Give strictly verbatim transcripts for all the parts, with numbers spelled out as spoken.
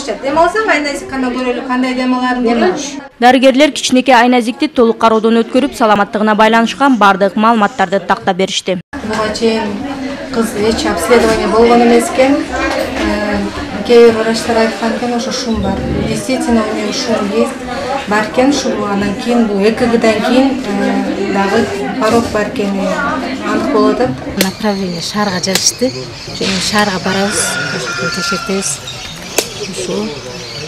орусча. Дем алсаң айназиккана көрөлү, кандай дем аларын көрөлү. Дарыгерлер кичинекей айназикти толук кароодон өткөрүп, саламаттыгына байланышкан бардык маалыматтарды тактап беришти. Буга чейин кыз эч обследование болгон эмес экен. Кээ бир врачтар айткан экен, ошо шум бар. Действительно, у нее шум есть. Бар экен, шум анан кийин бул ЭКГдан кийин дагы порог бар экени анык болуп атат. Направление шаарга жазышты. Және шаарга барабыз, текшертебиз. Ошо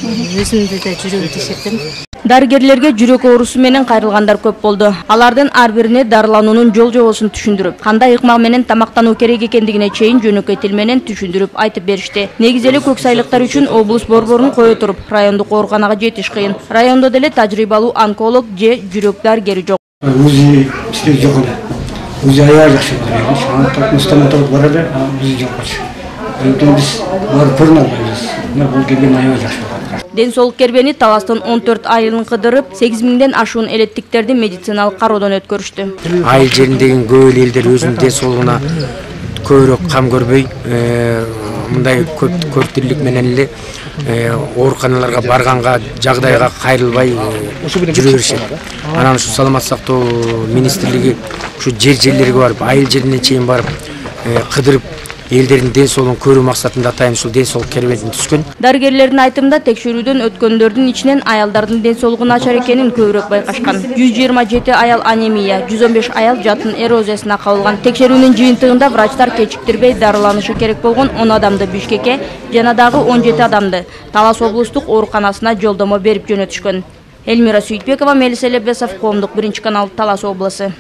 өзүмдү да жүрөгүм текшерттим. Дарыгерлерге жүрөк оорусу менен кайрылгандар көп болду. Алардын ар бирине дарылануунун жол жобосун түшүндүрүп, кандай ыкмак менен тамактануу керек экендигине чейин жөнөкөй тил менен түшүндүрүп айтып беришти. Негизи эле көксайлыктар үчүн облус борборун кое туруп, райондук ооруканага жетиш кыйын. Райондо деле тажрыйбалуу онколог же жүрөк дарыгери жок. УЗИ иштеп жок эле. УЗИ аябай жакшы болду. Шанттык стоматолог бар эле, УЗИ жок болчу. Биз барып көрүнө албайбыз. Мына бул келген аябай жакшы болду. Ден соолук кербени Таластын он төрт айылын кыдырып, сегиз миңден ашуун элеттиктерди медициналык кароодон өткөрүштү. Айыл жериндеги көп элдер өзүнүн ден соолугуна көбүрөөк кам көрбөй, мындай көп көптүрлүк менен эле ооруканаларга барганга, жагдайга кайрылбай жүрө беришет. Анан ушу саламаттык сактоо министрлиги ушу жер жерлерге барып, айыл жерине чейин барып, кыдырып элдердин ден соолугун көрүү максатында атайын ушул ден соолук кербетин түзгөн. Дарыгерлердин айтымында текшерүүдөн өткөндөрдүн ичинен аялдардын ден соолугу начар экенин көбүрөөк байкашкан. жүз жыйырма жети аял анемия, жүз он беш аял жатын эрозиясына кабылган. Текшерүүнүн жыйынтыгында врачтар кечиктирбей дарыланышы керек болгон он адамды Бишкекке жана дагы он жети адамды Талас облустук ооруканасына жолдомо берип жөнөтүшкөн. Элмира Сүйүтбекова, Мелис Элебесов, Коомдук биринчи канал, Талас облусу.